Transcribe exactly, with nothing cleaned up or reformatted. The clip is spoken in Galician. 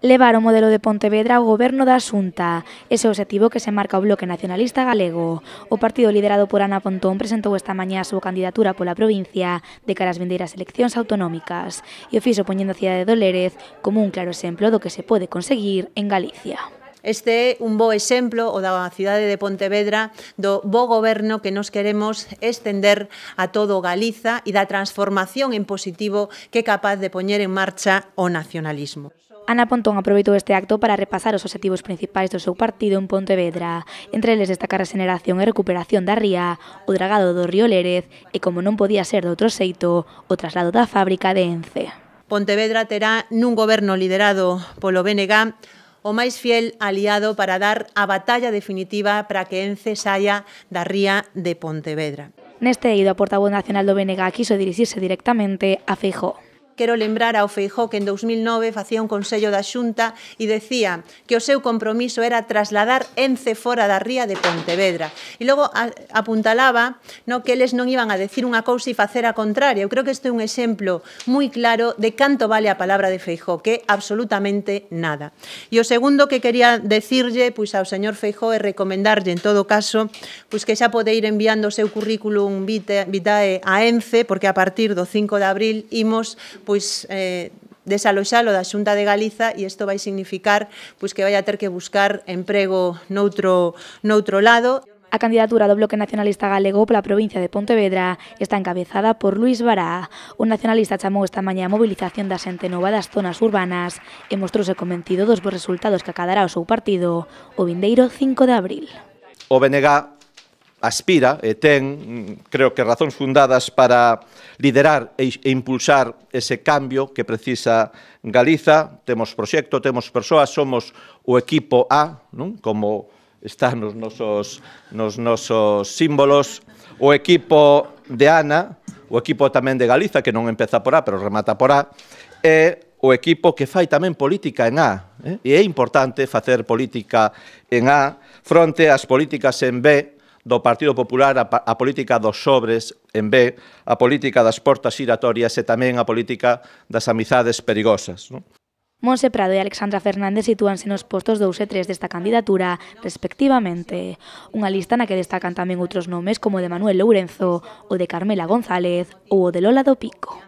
Levar o modelo de Pontevedra ao goberno da Xunta, ese obxectivo que se marca o Bloque Nacionalista Galego. O partido liderado por Ana Pontón presentou esta mañá a súa candidatura pola provincia de cara ás vindeiras eleccións autonómicas e o fixo poñendo a cidade do Lérez como un claro exemplo do que se pode conseguir en Galicia. Este é un bo exemplo, o da cidade de Pontevedra, do bo goberno que nos queremos estender a todo Galiza e da transformación en positivo que é capaz de poñer en marcha o nacionalismo. Ana Pontón aproveitou este acto para repasar os obxectivos principais do seu partido en Pontevedra. Entre eles destacar a xeneración e recuperación da ría, o dragado do río Lérez e, como non podía ser de outro xeito, o traslado da fábrica de Ence. Pontevedra terá nun goberno liderado polo B N G o máis fiel aliado para dar a batalla definitiva para que Ence saia da ría de Pontevedra. Neste eido, a portavoz nacional do B N G quiso dirixirse directamente a Feijóo. Quero lembrar ao Feijóo que en dous mil nove facía un consello da Xunta e decía que o seu compromiso era trasladar Ence fora da ría de Pontevedra. E logo apuntalaba no, que eles non iban a decir unha cousa e facer a contraria. Eu creo que este é un exemplo moi claro de canto vale a palabra de Feijóo, que é absolutamente nada. E o segundo que quería decirlle pois, ao señor Feijóo é recomendarlle, en todo caso, pois, que xa pode ir enviando o seu currículum vitae a Ence, porque a partir do cinco de abril imos pois eh, desaloxalo da Xunta de Galiza e isto vai significar pois, que vai a ter que buscar emprego noutro, noutro lado. A candidatura do Bloque Nacionalista Galego pola provincia de Pontevedra está encabezada por Luís Bará. O nacionalista chamou esta mañá a mobilización da xente nova das zonas urbanas e mostrouse convencido dos bons resultados que acadará o seu partido o vindeiro cinco de abril. O B N G aspira e ten, creo que, razóns fundadas para liderar e impulsar ese cambio que precisa Galiza. Temos proxecto, temos persoas, somos o equipo A, non? Como está nos nosos, nos nosos símbolos, o equipo de Ana, o equipo tamén de Galiza, que non empeza por A, pero remata por A, e o equipo que fai tamén política en A. Eh? E é importante facer política en A fronte ás políticas en B, do Partido Popular, a, a política dos sobres en B, a política das portas xiratorias e tamén a política das amizades perigosas. Non? Monse Prado e Alexandra Fernández sitúanse nos postos dous e tres desta candidatura, respectivamente. Unha lista na que destacan tamén outros nomes como o de Manuel Lourenzo, o de Carmela González ou o de Lola do Pico.